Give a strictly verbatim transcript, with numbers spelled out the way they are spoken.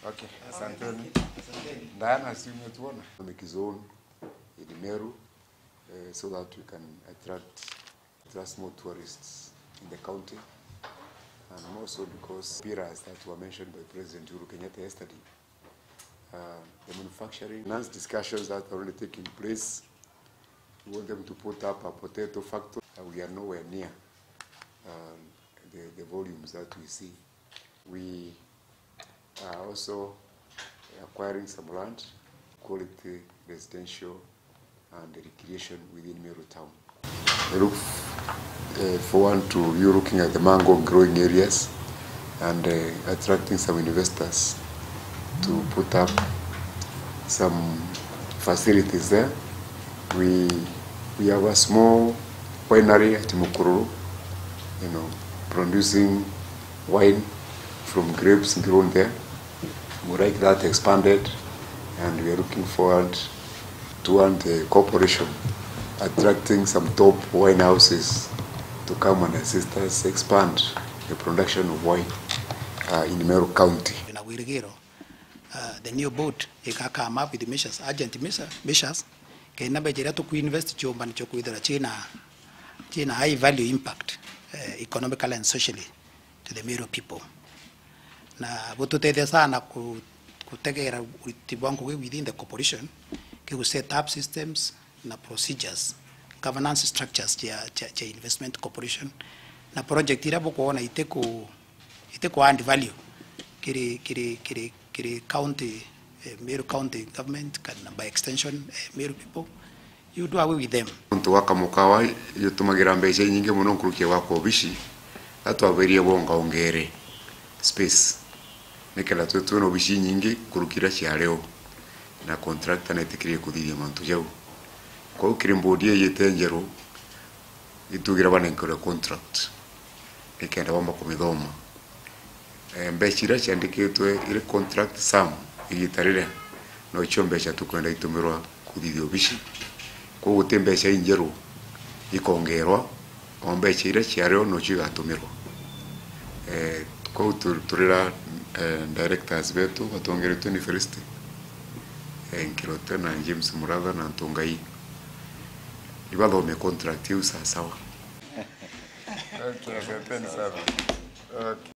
Okay, asanteni. Diana, si umetuona? Economic zone in Meru, eh, so that we can attract, attract more tourists in the county, and more so because pillars that were mentioned by President Uhuru Kenyatta yesterday, uh, the manufacturing, finance discussions that are already taking place. We want them to put up a potato factory. Uh, we are nowhere near, um, the, the volumes that we see. We are also acquiring some land, quality residential and recreation within Meru town. I look, eh, forward to you looking at the mango growing areas and, eh, attracting some investors to put up some facilities there. We, we have a small winery at Mukururu, you know, producing wine from grapes grown there. We like that expanded, and we are looking forward to want the corporation attracting some top wine houses to come and assist us expand the production of wine, uh, in Meru County. Twina wirigiro, uh, the new board ika come up with measures, urgent measure-, measures, kenda mbeca iria tukuinvest ciumba nicio kwithira cina, cina high value impact, uh, economically and socially to the Meru people. Na bututethia sana ku-, kutegera uriti bwa ngugi within the corporation, kigu set up systems na procedures, governance structures cia, cia, cia investment corporation, na project iria bukwona itiku, itiku add value kiri, kiri, kiri, kiri county, eh, Meru County government, kana by extension, eh, Meru people. You do away with them. Nontu wa kamukawa jutumagira mbeca inyingi mono nkuruki ya gwaka obici, na twaberie bongaongere space, nikenda twithwe na obici inyingi nkuruki iria ciari o, na contractor netikirie kuthithia mantu jau. Kwou kiri board ii ijite njeru, itugira banenkerwe contract, nikenda bamba kumithoma. Eh, mbeca iria ciandikitwe iri contract sum igita riria, nocio mbeca tukwenda itumirwa kuthithia obici. Kwou guti mbeca injeru ikongerwa, o mbeca iria ciari o nocio igatumirwa. Eh, kwou tu-, turira, eh, directors betu batongeretwe ni Felicity, eh, Nkirote na James Muratha na Ntungai, ibathome contract iu sawasawa. Okay, asanteni sana. Okay.